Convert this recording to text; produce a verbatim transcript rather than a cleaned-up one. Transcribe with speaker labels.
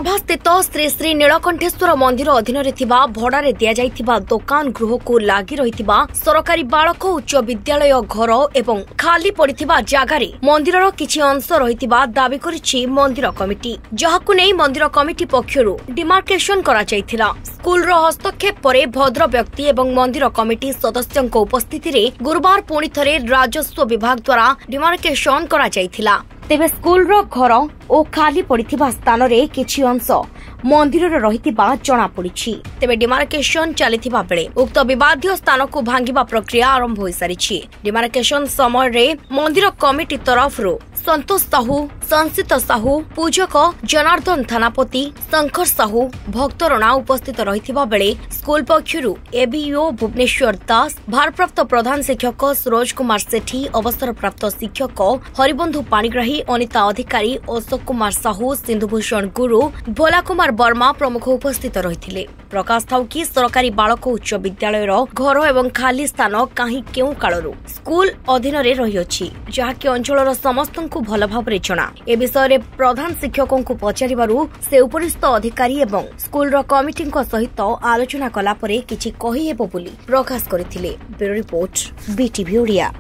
Speaker 1: ତରଭାସ୍ଥିତ ଶ୍ରୀ ଶ୍ରୀ ନୀଳକଣ୍ଠେଶ୍ୱର ମନ୍ଦିର ଅଧୀନରେ ଥିବା ଭଡ଼ାରେ ଦିଆଯାଇଥିବା ଦୋକାନ ଗୃହକୁ ଲାଗି ରହିଥିବା ସରକାରୀ ବାଳକ ଉଚ୍ଚ ବିଦ୍ୟାଳୟ ଘର ଏବଂ ଖାଲି ପଡ଼ିଥିବା ଜାଗାରେ ମନ୍ଦିରର କିଛି ଅଂଶ ରହିଥିବା ଦାବି କରିଛି ମନ୍ଦିର କମିଟି, ଯାହାକୁ ନେଇ ମନ୍ଦିର କମିଟି ପକ୍ଷରୁ ଡିମାର୍କେସନ କରାଯାଇଥିଲା। ସ୍କୁଲର ହସ୍ତକ୍ଷେପ ପରେ ଭଦ୍ର ବ୍ୟକ୍ତି ଏବଂ ମନ୍ଦିର କମିଟି ସଦସ୍ୟଙ୍କ ଉପସ୍ଥିତିରେ ଗୁରୁବାର ପୁଣି ଥରେ ରାଜସ୍ୱ ବିଭାଗ ଦ୍ୱାରା ଡିମାର୍କେସନ କରାଯାଇଥିଲା। ତେବେ ସ୍କୁଲର ଘର ଓ ଖାଲି ପଡ଼ିଥିବା ସ୍ଥାନରେ କିଛି ଅଂଶ ମନ୍ଦିରର ରହିଥିବା ଜଣାପଡ଼ିଛି। ତେବେ ଡିମାର୍କେସନ ଚାଲିଥିବା ବେଳେ ଉକ୍ତ ବିବାଦୀୟ ସ୍ଥାନକୁ ଭାଙ୍ଗିବା ପ୍ରକ୍ରିୟା ଆରମ୍ଭ ହୋଇସାରିଛି। ଡିମାର୍କେସନ ସମୟରେ ମନ୍ଦିର କମିଟି ତରଫରୁ ସନ୍ତୋଷ ସାହୁ, ସଂସିତ ସାହୁ, ପୂଜକ ଜନାର୍ଦ୍ଦନ ଥାନାପତି, ଶଙ୍କର ସାହୁ, ଭକ୍ତ ରଣା ଉପସ୍ଥିତ ରହିଥିବା ବେଳେ ସ୍କୁଲ ପକ୍ଷରୁ ଏବିଇଓ ଭୁବନେଶ୍ୱର ଦାସ, ଭାରପ୍ରାପ୍ତ ପ୍ରଧାନ ଶିକ୍ଷକ ସରୋଜ କୁମାର ସେଠୀ, ଅବସରପ୍ରାପ୍ତ ଶିକ୍ଷକ ହରିବନ୍ଧୁ ପାଣିଗ୍ରାହୀ, ଅନିତା ଅଧିକାରୀ, ଅଶୋକ କୁମାର ସାହୁ, ସିନ୍ଧୁଭୂଷଣ ଗୁରୁ, ଭୋଲା କୁମାର ବର୍ମା ପ୍ରମୁଖ ଉପସ୍ଥିତ ରହିଥିଲେ। ପ୍ରକାଶ ଥାଉ କି ସରକାରୀ ବାଳକ ଉଚ୍ଚ ବିଦ୍ୟାଳୟର ଘର ଏବଂ ଖାଲି ସ୍ଥାନ କାହିଁ କେଉଁ କାଳରୁ ସ୍କୁଲ ଅଧୀନରେ ରହିଅଛି, ଯାହାକି ଅଞ୍ଚଳର ସମସ୍ତଙ୍କୁ ଭଲ ଭାବରେ ଜଣା। ଏ ବିଷୟରେ ପ୍ରଧାନ ଶିକ୍ଷକଙ୍କୁ ପଚାରିବାରୁ ସେ ଉପରିସ୍ଥ ଅଧିକାରୀ ଏବଂ ସ୍କୁଲର କମିଟିଙ୍କ ସହିତ ଆଲୋଚନା କଲା ପରେ କିଛି କହିହେବ ବୋଲି ପ୍ରକାଶ କରିଥିଲେ। Bureau report, BTV Odia.